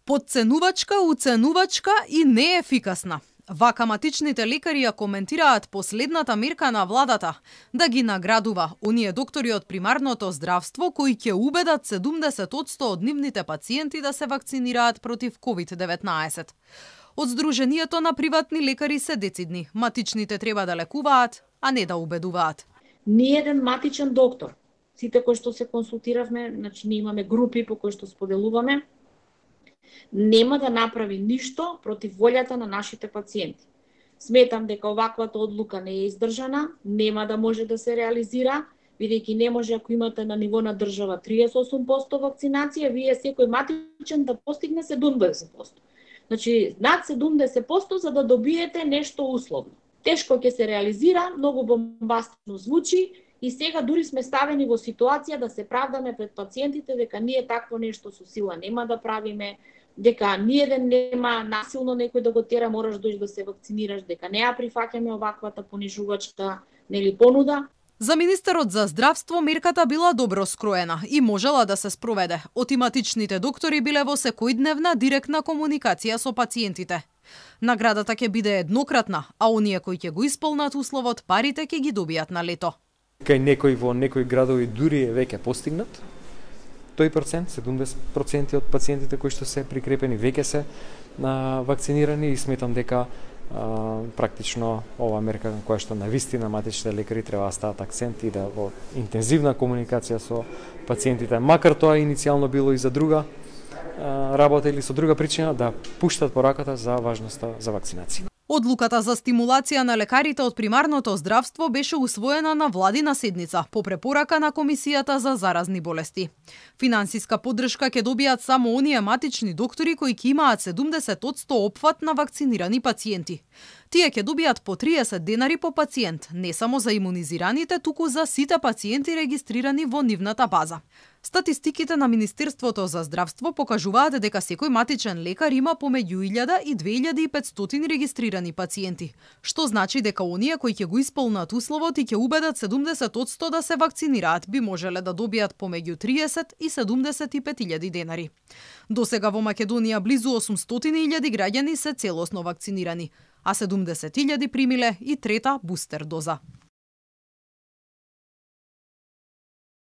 Подценувачка, уценувачка и неефикасна. Вака матичните лекари ја коментираат последната мерка на владата да ги наградува оние доктори од примарното здравство кои ќе убедат 70% од нивните пациенти да се вакцинираат против COVID-19. Од Сдруженијето на приватни лекари се децидни. Матичните треба да лекуваат, а не да убедуваат. Ни еден матичен доктор, сите кои што се консултиравме, значи ние имаме групи по кои што споделуваме, нема да направи ништо против волјата на нашите пациенти. Сметам дека оваквата одлука не е издржана, нема да може да се реализира, бидејќи не може ако имате на ниво на држава 38% вакцинација, вие секој матичен да постигне 70%. Значи, над 70% за да добиете нешто условно. Тешко ќе се реализира, многу бомбастично звучи и сега дури сме ставени во ситуација да се правдаме пред пациентите дека ние такво нешто со сила нема да правиме, дека ниеден нема насилно некој да го тера, мораш дојдеш да се вакцинираш, дека не ја прифаќаме оваквата понижувачка понуда. За министерот за здравство мерката била добро скроена и можела да се спроведе. Отиматичните доктори биле во секојдневна директна комуникација со пациентите. Наградата ќе биде еднократна, а оние кои ќе го исполнат условот, парите ќе ги добијат на лето. Кај некои во некои градови дури е веќе постигнат. Тој процент, 70% од пациентите кои што се прикрепени веќе се вакцинирани и сметам дека практично ова мерка која што навистина матичните лекари треба да стават акцент и да во интензивна комуникација со пациентите, макар тоа иницијално било и за друга работа или со друга причина, да пуштат пораката за важноста за вакцинација. Одлуката за стимулација на лекарите од примарното здравство беше усвоена на владина седница по препорака на Комисијата за заразни болести. Финансиска поддршка ќе добијат само оние матични доктори кои ќе имаат 70% опфат на вакцинирани пациенти. Тие ќе добијат по 30 денари по пациент, не само за имунизираните, туку за сите пациенти регистрирани во нивната база. Статистиките на Министерството за здравство покажуваат дека секој матичен лекар има помеѓу 1000 и 2500 регистрирани пациенти, што значи дека оние кои ќе го исполнат условот и ќе убедат 70% да се вакцинираат би можеле да добијат помеѓу 30 и 75.000 денари. Досега во Македонија близу 800.000 граѓани се целосно вакцинирани, а 70.000 примиле и трета бустер доза.